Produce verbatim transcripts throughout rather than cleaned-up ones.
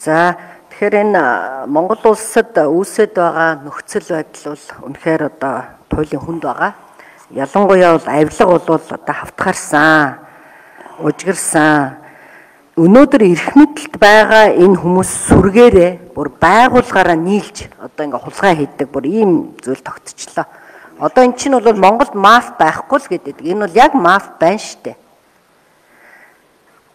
За тэгэхээр энэ Монгол улсад үүсэт байгаа нөхцөл байдал бол үнэхээр одоо туйлын хүнд байгаа. Ялангуяа бол авилга бол одоо хавтгаарсан, ужгирсан. Өнөөдөр эрх мэдэлд байгаа энэ хүмүүс сүргээрээ бүр байгууллагаараа нийлж одоо ингээ хулгай хийдэг бүр ийм зүйл тогтчихлоо. Одоо эн чинь бол Монголд маф байхгүй л гэдэг. Энэ бол яг маф байна штэ.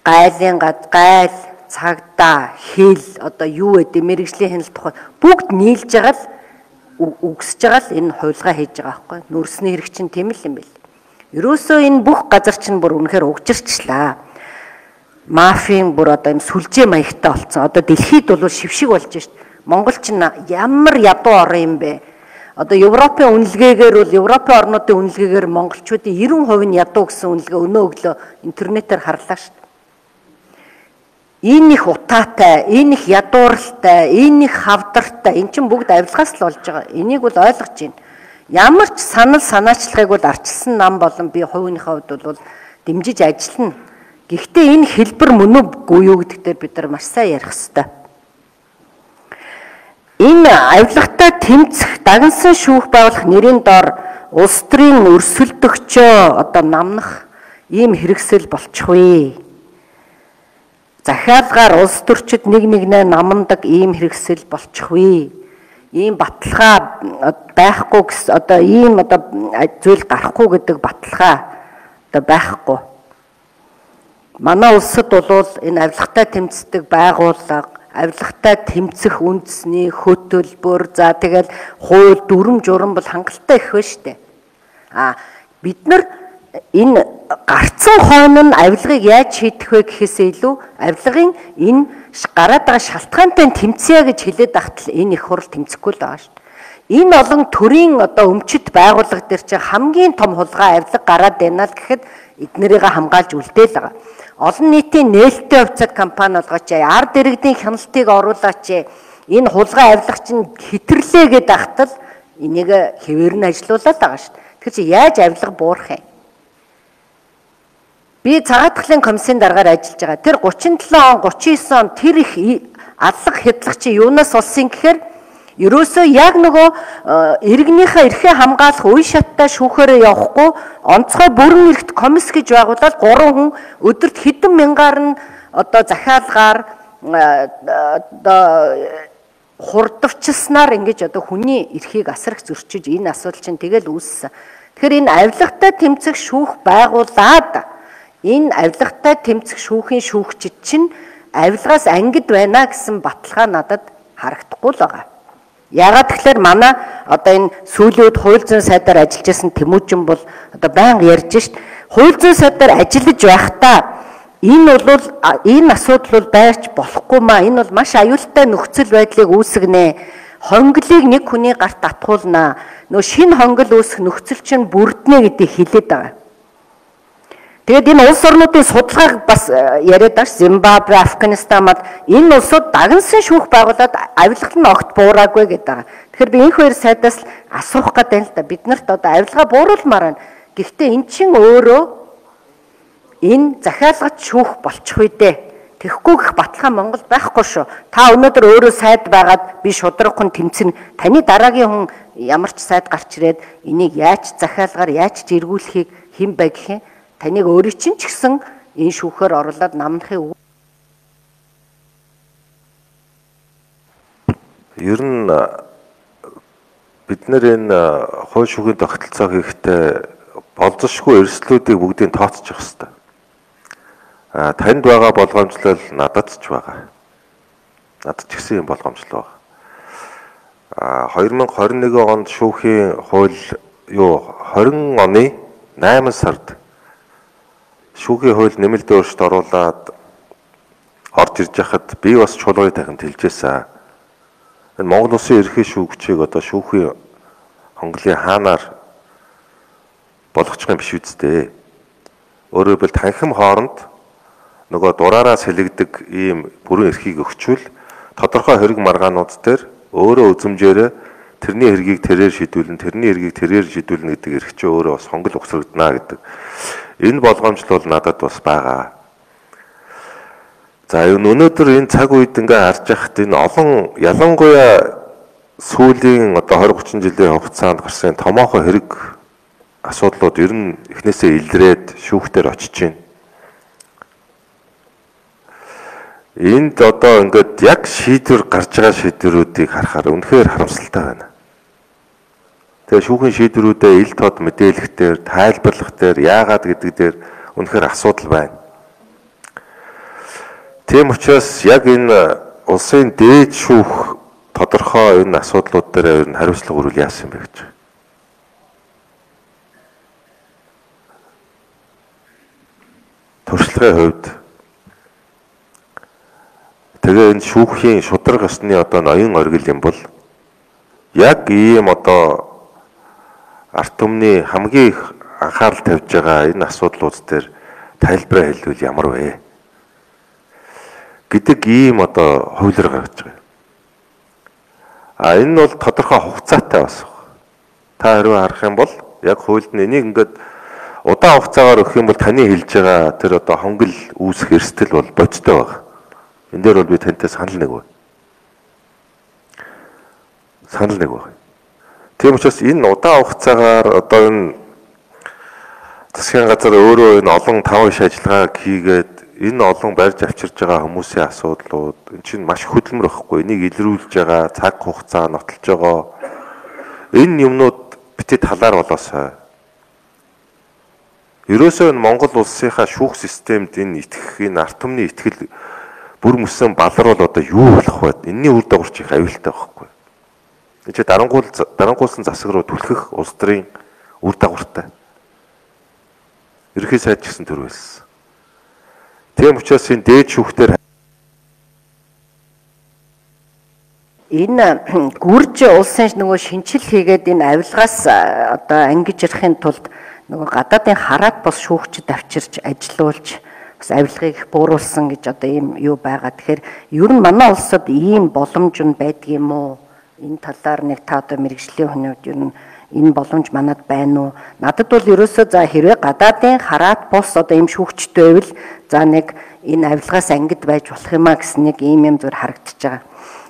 Гайлын гад gaйл, цагдаа, хэл одоо юу гэдэг мэрэгжлийн хяналт тухай бүгд нийлж байгаа л үгсэж байгаа л энэ хулгай хийж байгаа байхгүй. Нүрсний хэрэг чинь тийм л юм бэл. Ерөөсөө энэ бүх газар чинь бүр үнэхээр угжирчлаа. Мафийн бүр одоо юм сүлжээ маягтай болсон. Одоо дэлхийд бол шившиг болж шít. Монгол чинь ямар ядуу орон юм бэ? Одоо Европын үнэлгээгээр бол Европын орнуудын үнэлгээгээр монголчуудын ninety percent нь ядуу гэсэн үнэлгээ өнөө өглөө интернетээр харлаа шít. Энэ их утаатай, энэ их ядууралтай, энэ их хавдартай, эн чинь бүгд авилгаас л болж байгаа. Энийг бол ойлгож байна. Ямар ч санал санаачлагыг бол арчилсан нам болон би хувийнхаа хувьд бол дэмжиж ажиллана. Гэхдээ энэ хэлбэр мөн үгүй юу гэдэгтээ бид нар маш сайн ярих хэрэгтэй. Энэ авилгатай тэмцэх дагнсан шүүх байгуулах нэрийн дор улс төрийн өрсөлдөгчөө одоо намнах ийм хэрэгсэл болчихвээ. Захиалгаар улс төрчид нэг нэгнээ намдаг ийм хэрэгсэл болчихвээ. Ийм баталгаа байхгүй гэс одоо ийм одоо зүйл гарахгүй гэдэг баталгаа одоо байхгүй. Манай улсад бол энэ авилгатай тэмцдэг байгууллага, авилгатай тэмцэх үндэсний хөтөлбөр, за тэгэл хууль дүрм журам бол хангалттай их байна шүү дээ. А бид нар энэ гарцсан хойно нь авилгыг яаж шийдэх вэ гэхээсээ илүү авилгын энэ гараад байгаа шалтгаантай тэмцэе гэж хэлээд ахтал энэ их хурл тэмцэхгүй л байгаа шүү дээ. Энэ олон төрийн одоо өмчит байгууллага дээр чинь хамгийн том хулгай авилга гараад байна л гэхэд эднэрийг хамгаалж үлдээл байгаа. Олон нийтийн нээлттэй хувьцаат компани болгооч, ард иргэдийн хяналтыг оруулаач. Энэ хулгай авилга чинь хитэрлээ гэдэг ахтал энийг хэвээр нь ажилуулаад байгаа шүү дээ. Тэгэхээр чи яаж авилга буурах юм? Би цагаат талын комиссийн дараагаар ажиллаж байгаа. Тэр thirty-seven он, thirty-nine он тэр их аллах хядлах чи юунаас болсон гэхээр ерөөсөө яг нөгөө иргэнийхээ эрхээ хамгаалах үе шаттай шүүхээрээ явахгүй онцгой бүрэн эрхт комисс гэж байгуулаад гурван хүн өдөрт хэдэн мянгаар нь одоо захиалгаар одоо хурдвчилснаар ингэж одоо хүний эрхийг асарх зөрчиж энэ асуудал чинь тэгэл үүссэн. Тэгэхээр энэ авилгатай тэмцэх шүүх байгуулад энэ авилгатай тэмцэх шүүхийн шүүгчид чинь авилгаас ангид байна гэсэн баталгаа надад харагдахгүй л байгаа. Яагаад тэгэхээр манай одоо энэ сүүлийн үед хууль зүйн сайдаар ажиллаж байсан Тэмүүжин бол одоо байнга ярьж шít. Хууль зүйн сайдаар ажиллаж байхдаа энэ бол энэ асуудал бол байрч болохгүй маа. Энэ бол маш аюултай нөхцөл байдлыг үүсгэнэ. Хонглыг нэг хүний гарт татгуулнаа. Нөө шинэ хонгол үүсэх нөхцөл чинь бүрднэ гэдгийг хэлээд байгаа. Тэгээд энэ улс орнуудын судалгааг бас яриад байгаа ш. Зимбабве, Афганистан мад энэ улсууд дагнсан шүүх байгуулад авилгалт нь огт буураагүй гэдэг байгаа. Тэгэхээр би энэ хоёр сайдаас асуух гэдэг л да. Бид нарт одоо авилгаа бууруулмаар байна. Гэхдээ эн чинь өөрөө энэ захиалгач шүүх болчих үедээ тэгэхгүй гэх баталгаа Монголд байхгүй шүү. Та өнөөдөр өөрөө сайд байгаад би шудрагхан тэмцэнэ. Таны дараагийн хүн ямар ч сайд гарч ирээд энийг яаж захиалгаар яаж зэргүүлэхийг хэн бай гэх юм. Таныг өөрийн чинь ч гэсэн энэ шүүхээр оруулаад намнахыг ер нь бид нэр энэ хууль шүүхийн тогтолцоо хийхдээ болзошгүй эрсдлүүдийг бүгдийг тооцчих хэвээр. А танд байгаа болгоомжлол надад ч байгаа. Надад ч гэсэн юм болгоомжлол байгаа. А twenty twenty-one онд шүүхийн хууль юу twenty оны eight сард шүүхийн хууль нэмэлтийн өөрчлөлт оруулаад орж ирж байхад би бас чуулганы тахимд хэлжээсэн. Энэ Монгол Улсын ерхий шүүгчийг одоо шүүхийн хонглын хаанаар болгочих юм биш үсттэй. Өөрөөр хэлбэл танхим хооронд нөгөө дураараас хэлэгдэг ийм бүрэн эрхийг өгчвөл тодорхой хэрэг маргаанууд дээр өөрөө үзмжээрээ тэрний хэргийг тэрээр шийдүүлэн, тэрний хэргийг тэрээр шийдүүлнэ гэдэг эрх чинь өөрөө бас хонгол ухсрагдана гэдэг. Энэ болгоомжлол надад бас байгаа. За энэ өнөөдөр энэ цаг үед ингээ харж байхад энэ олон ялангуяа сүүлийн одоо двадцать тридцать жилийн хугацаанд гарсан томоохон хэрэг асуудлууд ер нь эхнээсээ илрээд шүүхтэр очиж байна. Энд одоо ингээд яг шийдвэр гарч байгаа шийдвэрүүдийг харахаар үнэхээр харамсалтай байна. Тэгээ шүүхийн шийдвэрүүдээ ил тод мэдээлэх дээр, тайлбарлах дээр, яагаад гэдэг дээр үнэхээр асуудал байна. Тийм учраас яг энэ улсын дээд шүүх тодорхой энэ асуудлууд дээр ер нь хариуцлага өрүүл яасан бэ гэж. Туршлагын хувьд тэгээ энэ шүүхийн шударга ёсны одоо ноён оргил юм бол яг ийм одоо арт түмний хамгийн их анхаарал тавьж байгаа энэ асуудлууд дээр тайлбараа хэлвэл ямар вэ гэдэг ийм одоо хувилар гаргаж байгаа. А энэ нь бол тодорхой хугацаатай бас. Та хэрвээ харах юм бол яг хуульд нь энийг ингээд удаан хугацаагаар өгөх юм бол таны хэлж байгаа тэр одоо хонгил үүсэх эрсдэл бол бодиттой байна. Энд дээр бол би тантай санал нэг байна. Санал нэг байна. Тийм учраас энэ удаан хугацаагаар одоо энэ засгийн газар өөрөө энэ олон таван иш ажиллагааг хийгээд энэ олон барьж авчирж байгаа хүмүүсийн асуудлууд энэ чинь маш хөдөлмөр байхгүй. Энийг илрүүлж байгаа цаг хугацаа нотолж байгаа энэ юмнууд битээ талаар болоосой. Ерөөсөө энэ Монгол улсынхаа шүүх системд энэ итгэх энэ арт түмний итгэл бүр мөсөн балар бол одоо юу болох вэ? Энийний үр дагаварч их аюултай байхгүй. Энэ чи дарангуул дарангуулсан засаг руу түлхэх улс төрийн үр дагавартай. Ерхий сайд гэсэн төр байсан. Тийм учраас энэ дээд шүүхтэр энэ гүрж улсын нөгөө шинжил хийгээд энэ авилгаас одоо ангиж ярахын тулд нөгөө гадаадын хараат бос шүүгчд авчирч ажилуулж бас авилгыг их бууруулсан гэж одоо ийм юу байгаа. Тэгэхээр ер нь манай улсад ийм боломж нь байдаг юм уу? Энэ талаар нэг та одоо мэрэгжлийн хүмүүд ер нь энэ боломж манад байна уу? Надад бол ерөөсөө за хэрвээ гадаадын хараат бос одоо ийм шүүгчтэй байвал за нэг энэ авилгаас ангид байж болох юм а гэсэн нэг ийм юм зүгээр харагдчихж байгаа.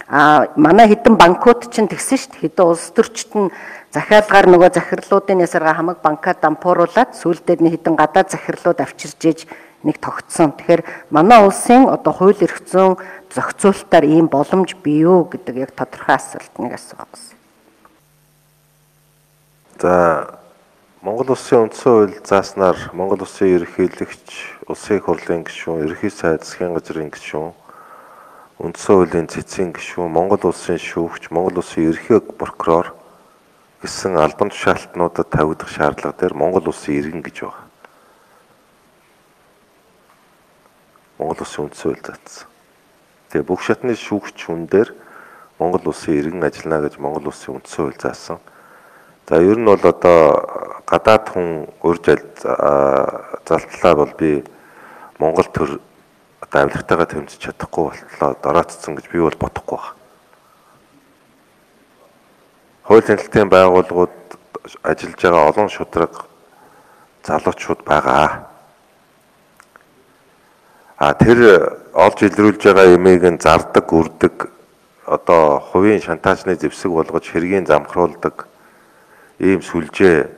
А манай хэдэн банкуд чинь тэгсэн шүү дээ. Хэдэн улс төрчид нь захиалгаар нөгөө захирлуудын ясарга хамаг банкад дампууруулад сүүлдээ нэг хэдэн гадаад захирлууд авчирж ээж нэг тогтсон. Тэгэхээр манай улсын одоо хууль эрх зүйн зохицуулалтаар ийм боломж бий юу гэдэг яг тодорхой асуулт нэг асуух гэсэн. За Монгол улсын үндсэн хууль зааснаар Монгол улсын ерөнхийлөгч, улсын их хурлын гишүүн, ерөнхий сайд, засгийн газрын гишүүн, үндсэн хуулийн цэцгийн гишүүн, Монгол улсын шүүгч, Монгол улсын ерөнхий прокурор гэсэн албан тушаалтнуудад тавигдах шаардлага дээр Монгол улсын иргэн гэж байна. Монгол улсын үндсэн хууль заасан. Тэгээ бүх шатны шүүгч хүн дээр Монгол улсын иргэн ажиллана гэж Монгол улсын үндсэн хууль заасан. За ер нь бол одоо гадаад хүн урьж залтлаа бол би Монгол төр одоо авилгатайгаа тэмцэж чадахгүй болтлоо дороотцсон гэж би бол бодохгүй байна. Хууль хяналтын байгууллагууд ажиллаж байгаа олон шударга залуучууд байгаа. А тэр олж илрүүлж байгаа юмыг нь зардаг, үрдэг, одоо хувийн шантаажны зэвсэг болгож хэргийн замхруулдаг ийм сүлжээ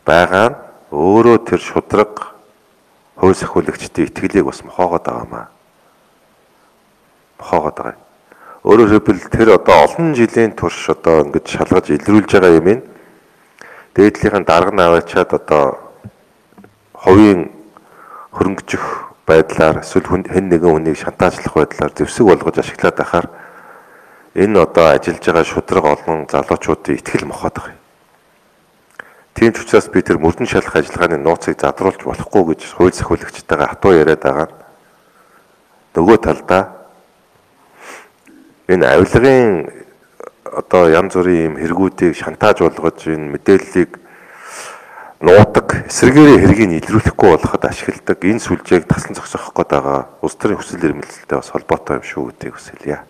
байгаа нь өөрөө тэр шударга хууль сахиулагчдын итгэлийг бас мохоогоод байгаамаа. Мохоогоод байгаа. Өөрөөр хэлбэл тэр одоо олон жилийн турш одоо ингэж шалгаж илрүүлж байгаа юм ин дээдлийнхэн дарга наваачаад одоо хувийн хөрөнгөжих байдлаар эсвэл хэн нэгэн хүнийг шантаажлах байдлаар зэвсэг болгож ашиглаад байхаар энэ одоо ажиллаж байгаа шударга олон залуучуудын итгэл мохоод байгаа. Тийм ч учраас би тэр мөрдөн шалгах ажиллагааны нууцыг задруулж болохгүй гэж хууль сахиулагчтайгаа хатуу яриад байгаа. Нөгөө талдаа энэ авилгын одоо янз бүрийн юм хэрэгүүдийг шантааж болгож энэ мэдээллийг нуудаг, эсрэгээрээ хэргийг илрүүлэхгүй болоход ашигладаг энэ сүлжээг тасан зогсоох гээд байгаа улс төрийн хүсэл эрмэлзэлтэй бас холбоотой юм шүү гэдгийг хүсэлье.